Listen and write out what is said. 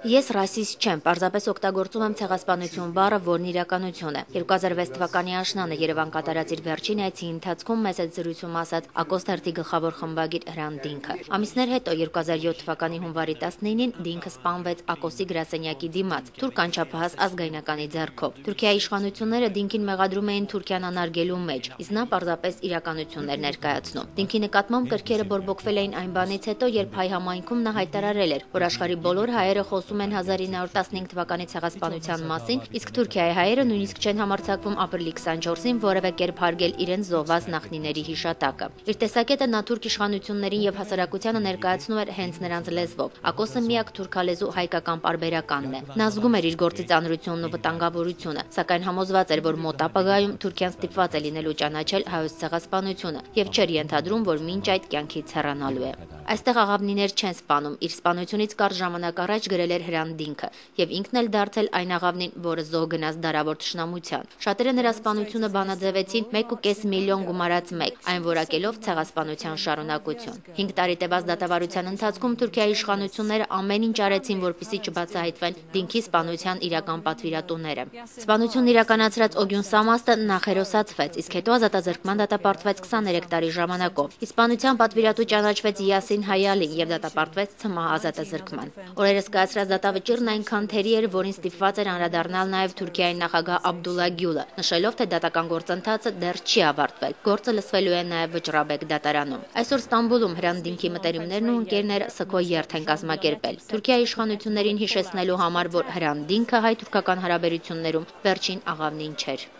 Ես ռասիստ չեմ, պարզապես օգտագործում եմ ցեղասպանություն բառը, որն իրականություն է։ 2006 թվականի աշնանը Երևան կատարած իր վերջին այցի ընթացքում մեծ այդ զրույցում ասաց Ակոս թերթի գլխավոր խմբագիր Հրանտ Դինքը։ Ամիսներ հետո 2007 թվականի հունվարի 19-ին Դինքը սպանվեց Ակոսի գրասենյակի դիմաց, թուրք անչափահաս ազգայնականի ձեռքով։ Թուրքիայի իշխանությունները Դինքին մեղադրում էին Թուրքիան անարգելու մեջ, իսկ նա պարզապես իրականություններ ներկայացնում։ Դինքի նկատմամբ կրքերը բորբոքվել էին այն բանից հետո, երբ հայ համայնքում նա հայտարարել էր, որ աշխարհի բոլոր հայերը խոսում են 1915 թվականի ցեղասպանության մասին, իսկ Թուրքիայի հայերը նույնիսկ չեն համարձակվում ապրիլի 24-ին որևէ կերպ հարգել իրենց զոհված նախնիների հիշատակը։ Իր տեսակետը նա թուրք իշխանություններին եւ հասարակությանը ներկայացնում էր հենց նրանց լեզվով։ Ակոսը միակ թուրքալեզու հայկական պարբերականն է։ Նա զգում էր իր գործի ծանրությունն ու վտանգավորությունը, սակայն համոզված էր, որ մոտ ապագայում Թուրքիան ստիպված է լինելու ճանաչել հայոց ցեղասպանությունը եւ չէր ենթադրում, որ մինչ այդ կյանքից հեռանալու է։ Այստեղ աղավնիներ չեն սպանում, իր սպանությունից կարճ ժամանակ առաջ գրել էր Հրանտ Դինքը եւ ինքն էլ դարձել այն աղավնին, որը զոհ գնաց դարավոր թշնամության։ Շատերը նրա սպանությունը բանաձևեցին 1.5 միլիոն գումարած մեկ, այն որակելով ցեղասպանության շարունակություն։ 5 տարի տևած դատավարության ընթացքում Թուրքիայի իշխանությունները ամեն ինչ արեցին, որպեսզի չբացահայտվեն Դինքի սպանության իրական պատվիրատուները։ Սպանությունն իրականացրած Օգյուն Սամաստը նախ հերոսացվեց, իսկ հետո ազատազրկման դատապարտվեց 23 տարի ժամանակով։ Սպանության պատվիրատու ճանաչվեց Յասին Հայալին եւ դատապարտվեց ՑՄՀ ազատազրկման։ Օրերս կայացրած դատավճիռն այնքան թերի էր, որին ստիպված էր անդրադառնալ նաև Թուրքիայի նախագահ Աբդուլլա Գյուլը, նշելով, թե դատական գործընթացը դեռ չի ավարտվել։ Գործը լսվելու է նաև Վճռաբեկ դատարանում։ Այսօր Ստամբուլում Հրանտ Դինքի մտերիմներն ու ընկերները սգո երթ են կազմակերպել։ Թուրքիայի իշխանություններին հիշեցնելու համար, որ Հրանտ Դինքը հայ-թուրքական հարաբերություններում վերջին աղավնին չէր։